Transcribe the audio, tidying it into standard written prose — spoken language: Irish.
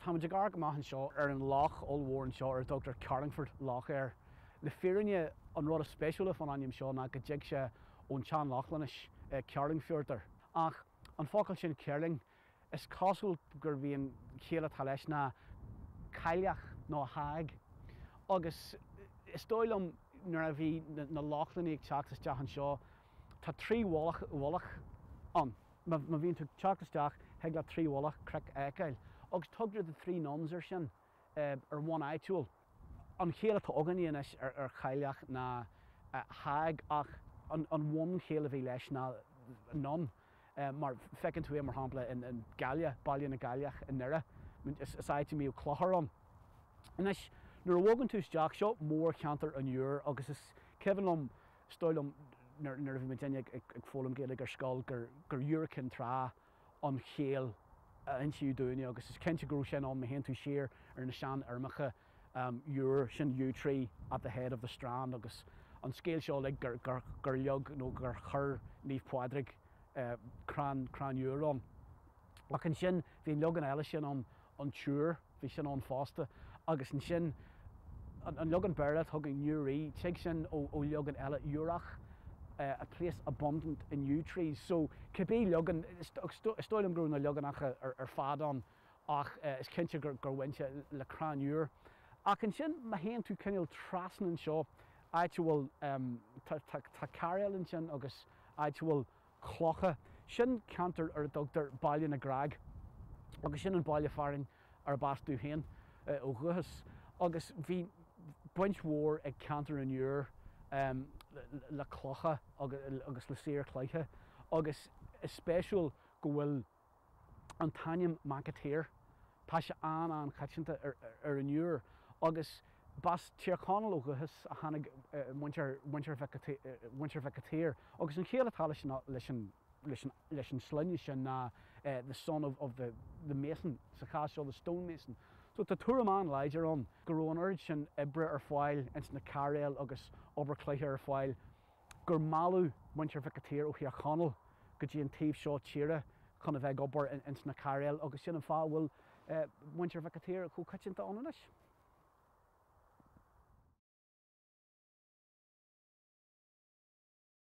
Táimid ag amharc amach anseo ar an loch ollmhór anseo ar a dtugtar Carlingford Lough air. Le fírinne, an rud is spéisiúla fán ainm seo ná go dtig sé ón tSean-Lochlainnis, Kerlingfjörður. Ach an focal sin Kerling, is cosúil gurb í an chiall atá leis ná cailleach nó hag. Agus is dóigh liom nuair a bhí na Lochlannaigh ag teacht isteach anseo, tá trí mhullach ann. Má bhíonn tú ag teacht isteach, thig leat trí mhullach cnoic a fheiceáil. Agus tugtar the three nuns air sin ar bhonn áitiúil. An chiall atá againne anois ar chailleach ná hag ach an bhunchiall a bhí leis ná nun. Mar feiceann tú é mar shampla in Gaille, Baile na gCailleach i nDoire. Is áit a mbíodh clochar ann. Anois, nuair a bhogann tú isteach, seo mórcheantar an Iúir agus is cuimhin liom, Is dóigh liom nuair a bhí muidinne ag foghlaim Gaeilge ar scoil gur Iúr Cinn Trá an chiall a insíodh dúinne agus is cinnte go raibh sin ann má théann tú siar ar na seanfhoirmeacha Iúr, sin yew tree at the head of the strand agus an scéal seo uilig gur leag nó gur chuir Naomh Pádraig crann crann iúir ann. Ach ansin bhí an leagan eile sin ann, an tIúr, bhí sin ann fosta. Agus ansin an leagan Béarla atá againn, Newry, tig sin ó leagan eile, Iúrach, a place abundant in yew trees. So cibé leagan, is dóigh liom go raibh na leaganacha ar fad ann ach is cinnte gur bhain sé le crann iúir. Ach ansin má théann tú cineál trasna anseo, áit a bhfuil, tá cairéal ansin agus áit a bhfuil clocha. Sin ceantar ar a dtugtar Baile na gCreag agus sin an baile fearainn arb as domh féin ó dhúchas. Agus bhí baint mhór ag ceantar an Iúir le clocha agus le saothar cloiche agus is spéisiúil go bhfuil an t-ainm McAteer, tá sé an-an-choitianta ar an Iúr agus b'as Tír Chonaill ó dhúchas a tháinig muintir muintir Mhic an tSaoir agus an chiall atá leis an leis an leis an leis an sloinne sin ná the son of of the the mason, sa chás seo the stone mason. So tá tuairim an-láidir ann go raibh an oiread sin oibre ar fáil ins na cairéil agus obair cloiche ar fáil gur mealladh muintir Mhic an tSaoir ó Thír Chonaill go dtí an taobh seo tíre chun a bheith ag obair ins na cairéil agus sin an fáth a bhfuil muintir Mhic an tSaoir chomh coitianta ann anois.